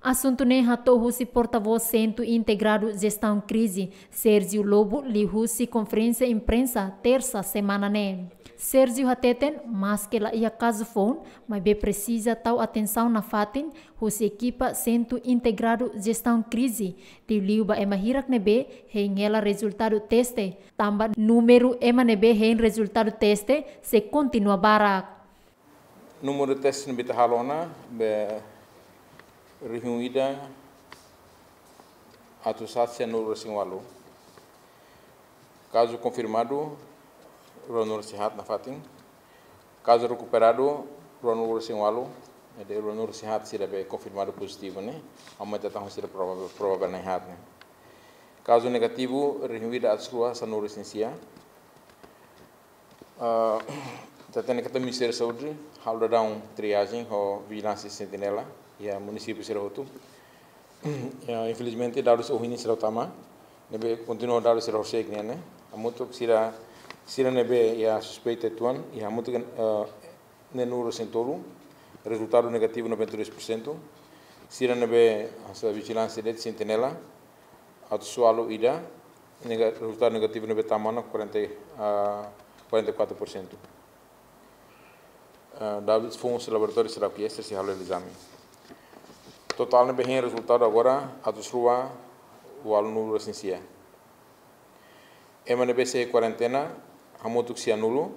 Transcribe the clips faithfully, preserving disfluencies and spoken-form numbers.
Asuntu ne'e hato'o husi portavós Sentru Integradu Jestaun Krize, Sérgio Lobo, liuhusi konferénsia imprensa Tersa semana ne'e. Sérgio hateten, maske la iha kazu foun, maibé presiza tau atensaun nafatin husi ekipa Sentru Integradu Jestaun Krize, liuliu ba ema hirak ne'ebé hein hela rezultadu teste, tanba númeru ema ne'ebé hein rezultadu teste sei kontinua barak. Númeru teste ne'ebé ita halo ona be rihun ida atus haat sianulu-resin-ualu. Kazu konfirmadu ruanulu-resin-haat nafatin. Kazu rekuperadu ruanulu-resin-ualu, jadi ruanulu-resin-haat sira be konfirmadu pozitivu ne'e, aumenta tan sira provável, provável na'in-haat ne'e. Kazu negativu rihun ida atus rua sanulu-resin-sia. Ah, ita hatene katak Ministériu Saúde halo daudaun triajen ho vijilánsia sentinela iha munisípiu sira hotu. Ya, infelizmente dadus ohin sira tama, ne'ebé kontinua dadus sira horisehik nian ne'e. Hamutuk sira, sira ne'ebé iha suspeita uitoan, iha hamutuk, eh, neenulu-resin-tolu, rezultadu negativu noventa e dois por cento. Sira ne'ebé hanesan vijilánsia de'it sentinela, atus ualu ida, nega-, rezultadu negativu ne'ebé tama ona quarenta, ah, quarenta e quatro por cento. Ah, dadus foun husi laboratóriu sira ke ester sei halo ezame. Totál ne'ebé hein rezultadu agora atus rua ualunulu-resin-sia. Ema ne'ebé sei kuarentena hamutuk sianulu.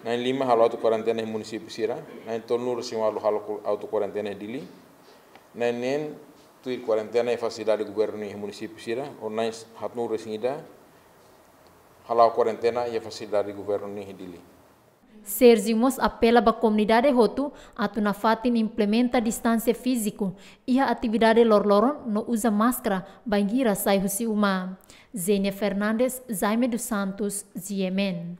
Na'in-lima halo auto kuarentena iha munisípiu sira, na'in-tolunulu-resin-ualu halo ku-, auto kuarentena iha Dili, na'in-neen tuir kuarentena iha fasilidade governu iha munisípiu sira, ho na'in-haatnulu-resin-ida hala'o kuarentena iha fasilidade governu iha Dili. Sérgio mós apela ba komunidade hotu atu nafatin implementa distánsia fíziku iha atividade loroloron no uza máskara bainhira sai husi uma. Zenia Fernandes, Jaime dos Santos, G M N.